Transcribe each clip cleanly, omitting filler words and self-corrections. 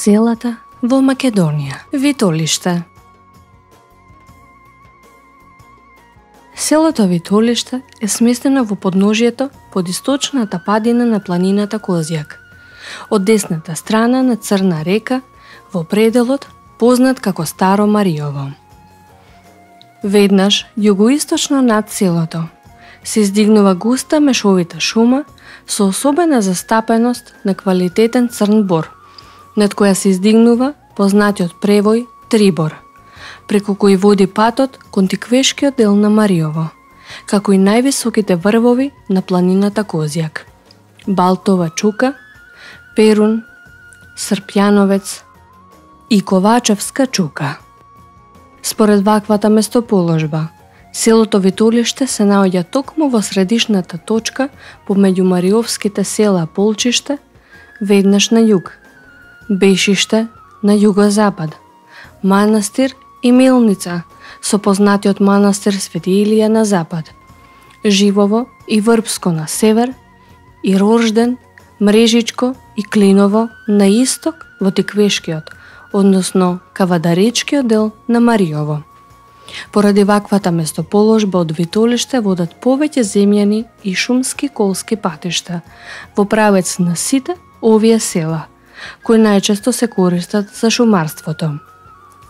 Селата во Македонија. Витолиште. Селото Витолиште е сместено во подножието под источната падина на планината Козјак, од десната страна на Црна река, во пределот познат како Старо Мариово. Веднаш југоисточно над селото се издигнува густа мешовита шума со особена застапеност на квалитетен црн бор, над која се издигнува познатиот превој Трибор, преку кој води патот кон тиквешкиот дел на Мариово, како и највисоките врвови на планината Козјак: Балтова чука, Перун, Српјановец и Ковачевска чука. Според ваквата местоположба, селото Витолиште се наоѓа токму во средишната точка помеѓу мариовските села Полчиште, веднаш на југ, Бешиште на југозапад, Манастир и Мелница со познатиот манастир Свети Илија на запад, Живово и Врбско на север и Рожден, Мрежичко и Клиново на исток во Тиквешкиот, односно Кавадаречкиот дел на Мариово. Поради ваквата местоположба од Витолиште водат повеќе земјани и шумски колски патишта во правец на сите овие села, кои најчесто се користат за шумарството.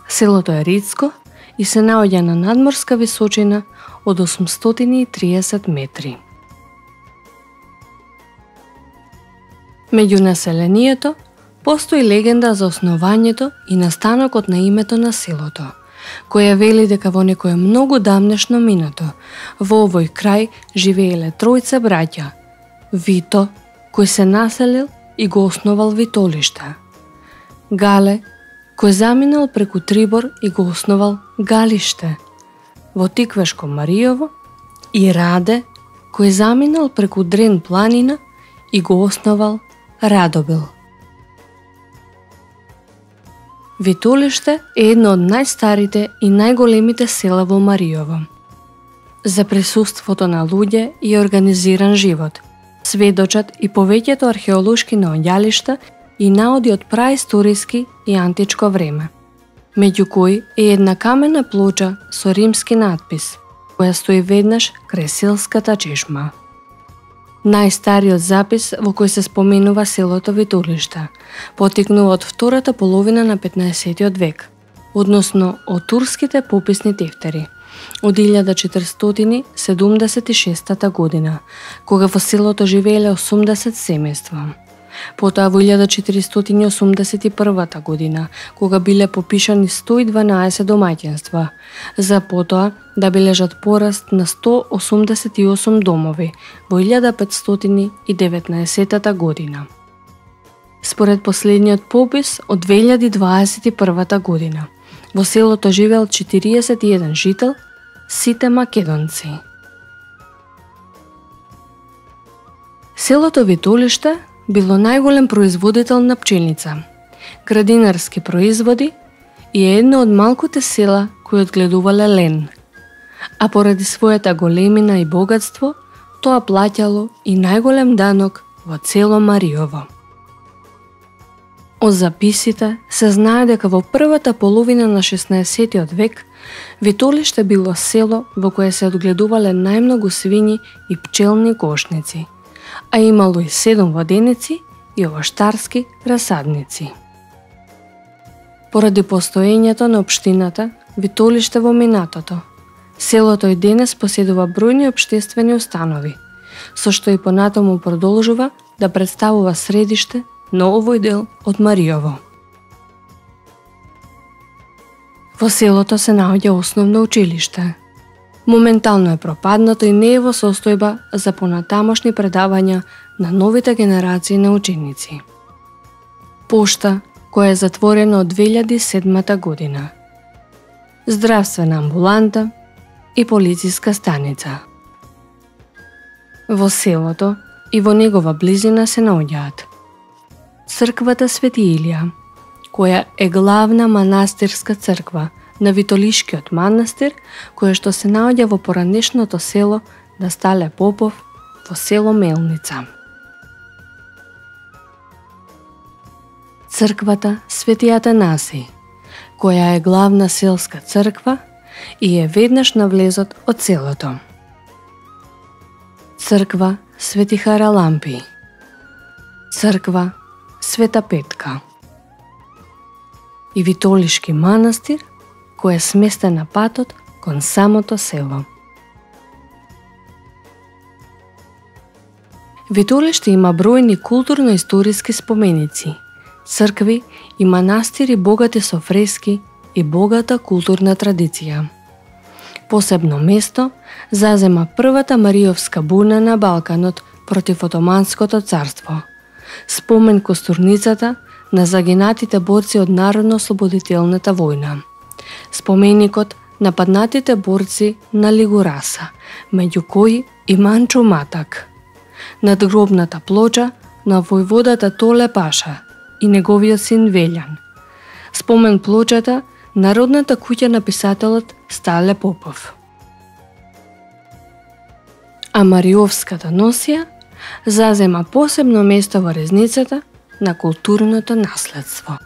Селото е ридско и се наоѓа на надморска височина од 830 метри. Меѓу населението постои легенда за основањето и настанокот на името на селото, која вели дека во некое многу давнешно минато во овој крај живееле тројца браќа: Вито, кој се населил и го основал Витолиште; Гале, кој заминал преку Трибор и го основал Галиште во Тиквешко Мариово; и Раде, кој заминал преку Дрен планина и го основал Радобил. Витолиште е едно од најстарите и најголемите села во Мариово. За присуството на луѓе и организиран живот сведочат и повеќето археолошки наоѓалишта и наоди од праисториски и античко време, меѓу кои е една камена плоча со римски надпис, која стои веднаш крај селската чешма. Најстариот запис во кој се споменува селото Витолиште потекнува од втората половина на 15 век, односно од турските пописни тефтери, од 1476 година, кога во селото живееле 80 семејства. Потоа во 1481 година, кога биле попишани 112 домаќинства, за потоа да бележат пораст на 188 домови во 1519 година. Според последниот попис од 2021 година, во селото живеел 41 жител, сите македонци. Селото Витолиште било најголем производител на пчелница, градинарски производи и е едно од малкуте села кои одгледувале лен, а поради својата големина и богатство, тоа плаќало и најголем данок во цело Мариово. Од записите се знае дека во првата половина на 16 век Витолиште било село во кое се одгледувале најмногу свињи и пчелни кошници, а имало и 7 воденици и овоштарски расадници. Поради постоењето на општината Витолиште во минатото, селото и денес поседува бројни општествени установи, со што и понатаму продолжува да представува средиште на овој дел од Мариово. Во селото се наоѓа основно училиште. Моментално е пропаднато и не е во состојба за понатамошни предавања на новите генерации на ученици. Пошта, која е затворена од 2007 година. Здравствена амбуланта и полициска станица. Во селото и во негова близина се наоѓаат црквата Свети Илија, која е главна манастирска црква на Витолишкиот манастир, која што се наоѓа во поранешното село на Стале Попов во село Мелница. црквата Свети Атанасий, која е главна селска црква и е веднаш на влезот од селото. Црква Свети Харалампи, црква Света Петка и Витолишки манастир, кој е сместен на патот кон самото село. Витолиште има бројни културно-историски споменици, цркви и манастири богати со фрески и богата културна традиција. Посебно место зазема првата Мариовска буна на Балканот против Отоманското царство, спомен костурницата на загинатите борци од Народно-ослободителната војна, споменикот на паднатите борци на Лигураса, меѓу кои и Манчо Матак, надгробната плоча на војводата Толе Паша и неговиот син Велјан, спомен плочата на родната куќа на писателот Стале Попов. А Мариовската носија зазема посебно место во резницата на културното наследство.